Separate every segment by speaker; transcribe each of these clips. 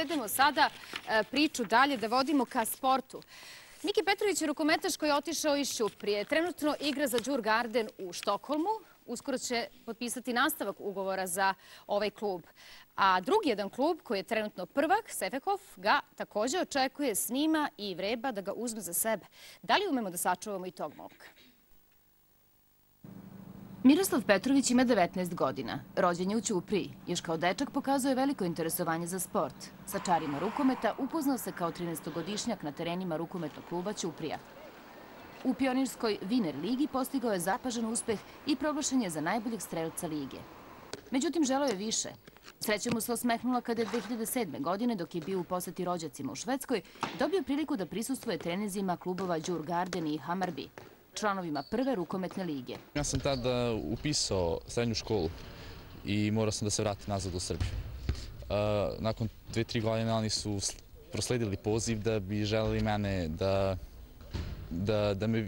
Speaker 1: povedemo sada priču dalje, da vodimo ka sportu. Miki Petrović je rukometaš koji je otišao iz Ćuprije. Trenutno igra za Djurgården u Štokholmu. Uskoro će potpisati nastavak ugovora za ovaj klub. A drugi jedan klub koji je trenutno prvak, Sefekov, ga također očekuje, snima i vreba da ga uzme za sebe. Da li umemo da sačuvamo i tog momka? Miroslav Petrović ima 19 godina. Rođen je u Ćupriji. Još kao dečak pokazuje veliko interesovanje za sport. Sa čarima rukometa upoznao se kao 13-godišnjak na terenima rukometnog kluba Ćuprija. U pionirskoj Viner ligi postigao je zapažen uspeh i proglašen je za najboljeg strelca lige. Međutim, želeo je više. Sreća mu se osmehnula kada je 2007. godine, dok je bio u poseti rođacima u Švedskoj, dobio priliku da prisustvuje treninzima klubova Djurgården i Hammarby, članovima prve rukometne lige.
Speaker 2: Ja sam tada upisao srednju školu i morao sam da se vratim nazad u Srbiju. Nakon 2-3 godine oni su prosledili poziv da bi želeli mene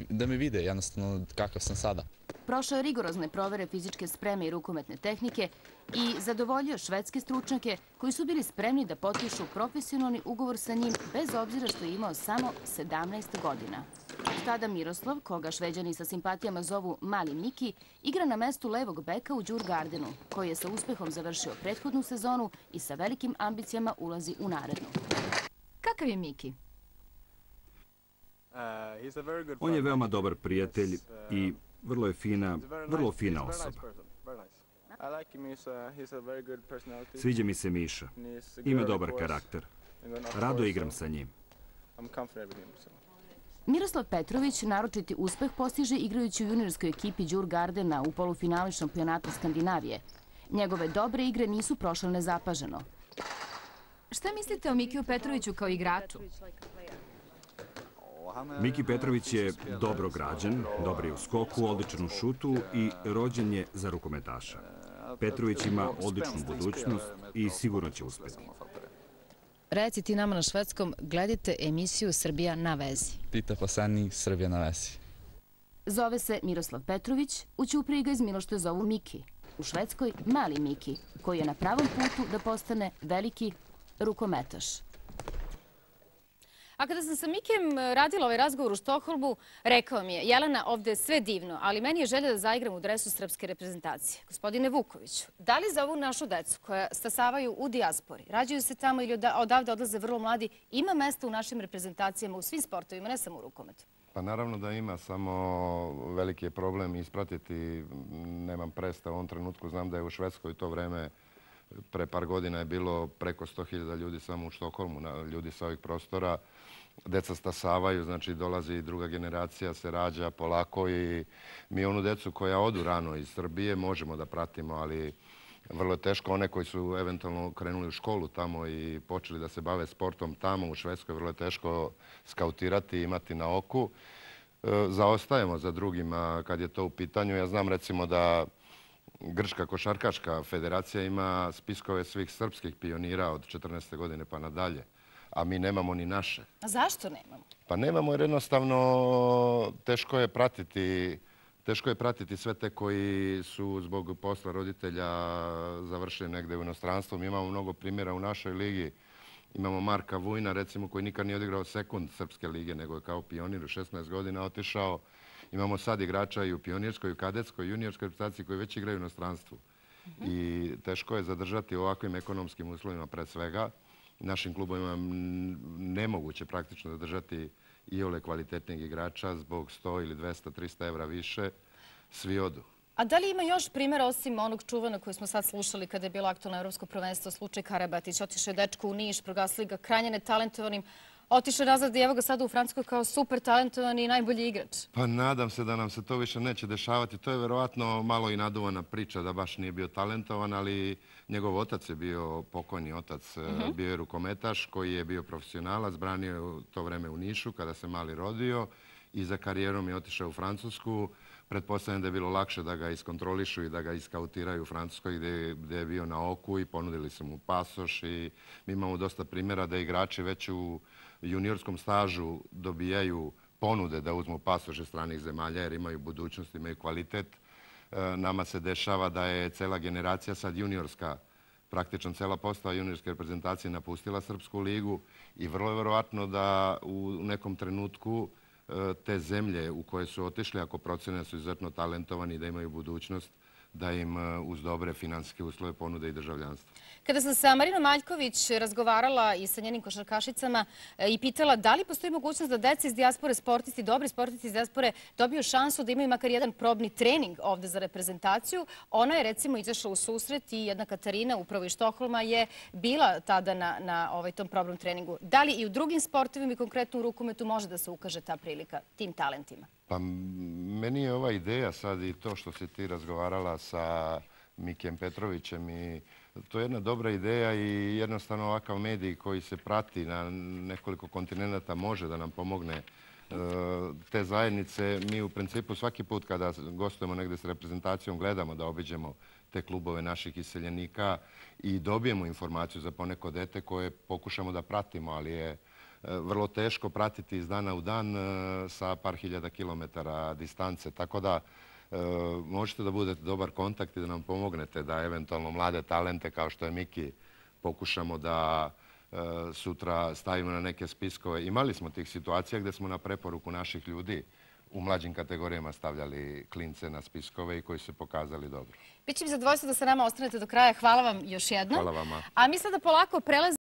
Speaker 2: da me vide jednostavno kakav sam sada.
Speaker 1: Prošao je rigorozne provere fizičke spreme i rukometne tehnike i zadovoljio švedske stručnjake koji su bili spremni da potpišu profesionalni ugovor sa njim bez obzira što je imao samo 17 godina. Tada Miroslav, koga Šveđani sa simpatijama zovu Mali Miki, igra na mestu levog beka u Djurgårdenu, koji je sa uspehom završio prethodnu sezonu i sa velikim ambicijama ulazi u narednu. Kakav je Miki?
Speaker 3: On je veoma dobar prijatelj i vrlo fina osoba. Sviđa mi se Miša. Ima dobar karakter. Rado igram sa njim.
Speaker 1: Miroslav Petrović naročiti uspeh postiže igrajući u juniorskoj ekipi Djurgårdena u polufinalu šampionata Skandinavije. Njegove dobre igre nisu prošle nezapaženo. Šta mislite o Mikiju Petroviću kao igraču?
Speaker 3: Miki Petrović je dobro građan, dobar je u skoku, odličan u šutu i rođen je za rukometaša. Petrović ima odličnu budućnost i sigurno će uspjeti.
Speaker 1: Reci ti nama na švedskom, gledajte emisiju Srbija na vezi.
Speaker 2: Tita Pasani, Srbija na vezi.
Speaker 1: Zove se Miroslav Petrović, u Ćupriji ga iz Milošte zovu Miki. U Švedskoj Mali Miki, koji je na pravom putu da postane veliki rukometaš. A kada sam sa Mikijem radila ovaj razgovor u Štokholmu, rekao mi je: Jelena, ovde je sve divno, ali meni je želja da zaigram u dresu srpske reprezentacije. Gospodine Vukoviću, da li za ovu našu decu koja stasavaju u dijaspori, rađaju se tamo ili odavde odlaze vrlo mladi, ima mesta u našim reprezentacijama u svim sportovima, ne samo u rukometu?
Speaker 4: Pa naravno da ima, samo veliki je problem ispratiti. Nemam predstav u ovom trenutku, znam da je u Švedskoj to vreme pre par godina je bilo preko 100.000 ljudi samo u Štokholmu, ljudi sa ovih prostora. Deca stasavaju, znači dolazi i druga generacija, se rađa polako i mi onu decu koja odu rano iz Srbije možemo da pratimo, ali vrlo je teško. One koji su eventualno krenuli u školu tamo i počeli da se bave sportom tamo u Švedskoj, vrlo je teško skautirati i imati na oku. Zaostajemo za drugima kad je to u pitanju. Ja znam recimo da Grčka košarkaška federacija ima spiskove svih srpskih pionira od 14. godine pa nadalje, a mi nemamo ni naše.
Speaker 1: A zašto nemamo?
Speaker 4: Pa nemamo jer jednostavno teško je pratiti sve te koji su zbog posla roditelja završili negde u inostranstvu. Mi imamo mnogo primjera u našoj ligi. Imamo Marka Vujna, recimo, koji nikad nije odigrao sekund srpske lige, nego je kao pionir u 16 godina otišao. Imamo sad igrača i u pionirskoj, i u kadetskoj, i juniorskoj reprezentaciji koji već igraju u inostranstvu. I teško je zadržati u ovakvim ekonomskim uslovima pred svega. Našim klubovima nemoguće praktično zadržati iole kvalitetnih igrača zbog 100 ili 200, 300 evra više. Svi odu.
Speaker 1: A da li ima još primjera osim onog čuvana koji smo sad slušali kada je bilo aktualno evropsko prvenstvo, slučaj Karabatić? Otišao je dečko u Niš, proglasili ga krajnje netalentovanim, otišao nazad i evo ga sada u Francuskoj kao super talentovan i najbolji igrač.
Speaker 4: Pa nadam se da nam se to više neće dešavati. To je verovatno malo i naduvana priča da baš nije bio talentovan, ali njegov otac je bio pokojni otac, bio je rukometaš koji je bio profesionalac, branio je u to vreme u Nišu kada se mali rodio i za karijerom je otišao u Francusku. Pretpostavljam da je bilo lakše da ga iskontrolišu i da ga iskautiraju u Francuskoj gdje je bio na oku i ponudili su mu pasoš. I mi imamo dosta primjera da igrači već u juniorskom stažu dobijaju ponude da uzmu pasoše stranih zemalja jer imaju budućnost, imaju kvalitet. Nama se dešava da je cela generacija sad juniorska praktično cela postava juniorske reprezentacije napustila Srpsku ligu i vrlo je verovatno da u nekom trenutku te zemlje u koje su otišli, ako procene da su izuzetno talentovani i da imaju budućnost, da im uz dobre finansijske uslove ponude i državljanstvo.
Speaker 5: Kada sam sa Marinom Maljković razgovarala i sa njenim košarkašicama i pitala da li postoji mogućnost da deca iz dijaspore, sportisti, dobri sportisti iz dijaspore dobiju šansu da imaju makar jedan probni trening ovde za reprezentaciju, ona je recimo izašla u susret i jedna Katarina upravo iz Štokholma je bila tada na tom probnom treningu. Da li i u drugim sportovima i konkretno u rukometu može da se ukaže ta prilika tim talentima?
Speaker 4: Pa meni je ova ideja sad i to što si ti razgovarala sa Mikijem Petrovićem i to je jedna dobra ideja i jednostavno ovakav medij koji se prati na nekoliko kontinenta može da nam pomogne te zajednice. Mi u principu svaki put kada gostujemo negde s reprezentacijom gledamo da obiđemo te klubove naših iseljenika i dobijemo informaciju za poneko dete koje pokušamo da pratimo, ali je vrlo teško pratiti iz dana u dan sa par hiljada kilometara distance. Tako da možete da budete dobar kontakt i da nam pomognete da eventualno mlade talente kao što je Miki pokušamo da sutra stavimo na neke spiskove. Imali smo tih situacija gde smo na preporuku naših ljudi u mlađim kategorijama stavljali klince na spiskove i koji su se pokazali dobro.
Speaker 5: Biće mi zadovoljstvo da sa nama ostanete do kraja. Hvala vam još jednom.
Speaker 4: Hvala vama.
Speaker 5: A mi sada polako prelazimo